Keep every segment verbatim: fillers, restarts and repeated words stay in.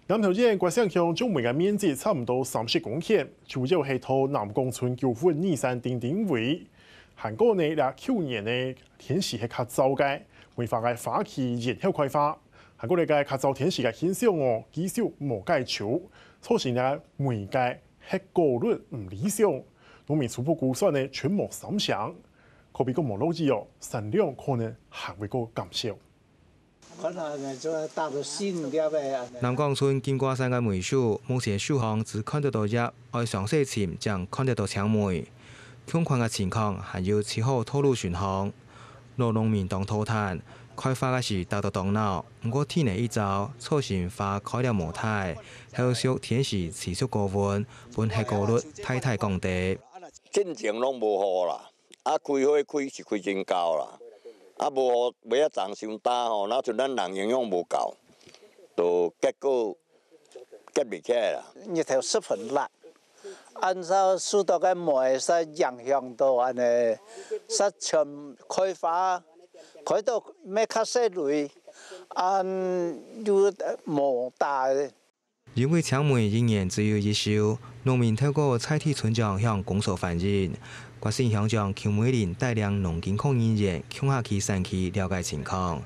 南投縣月城鄉種梅个面積差毋多三十公頃，主要係在南港村九份二三丁丁位。還過呢，這舊年呢，天時係較燥个，梅花个花期延後開花。還過呢，該較燥天時个現象哦，繼續無解除，造成呢梅个核果率毋理想。農民初步估算呢，全無三成，可比講無落雨哦，產量可能還會過減少。 看啊，就大到四五粒个啊。南港村金瓜山个梅樹，目前樹項只看得到葉，愛詳細尋正看得到青梅。共款个情況還有七號道路巡航。老農民當頭疼，開花个時打到當鬧，毋過天氣一燥，造成花開了無大，後續天時持續高溫，分核果率大大降低。進前攏無雨啦， 啊，開花開是開真厚啦，啊，無雨尾仔長傷焦吼，若像咱人營養無夠，就結果結袂起來啦。日頭十分烈，按照樹頭个梅煞影響到按呢，煞全開花，開到乜較細蕊，啊，又無大。 因為青梅一年只有一收，農民透過在地村長向公所反映，決心鄉長邱美玲帶領農經科人員共下去產區了解情況。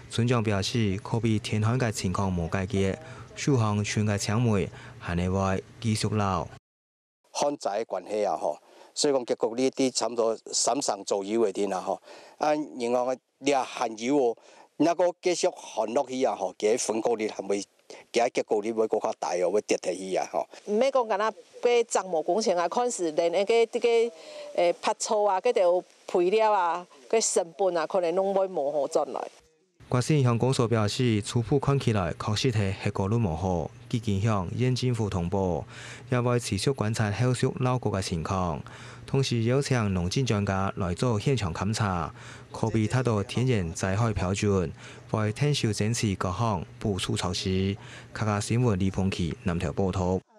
村長表示，可比天旱个情況無解決，樹項伸个青梅還係會繼續老。 旱災个關係啊吼，所以講結果率在差不多三成左右个定啦吼。啊，另外這還有哦，若个繼續旱落去啊吼，佢个分果率還會，佢个結果率會閣較大哦，會跌下去啊吼。毋免講干焦該長毛工程啊，看是連該个這个，誒，拔草啊，該條肥料啊，該成本啊，可能攏會無好轉來。 決心鄉公所表示，初步看起來確實係核果率無好，既經向縣政府通報，也會持續觀察後續澇谷个情況，同時邀請農政專家來做現場勘查，可比達到天然災害標準，會𢯭手爭取各項補助措施。客家新聞李鵬奇南投報導。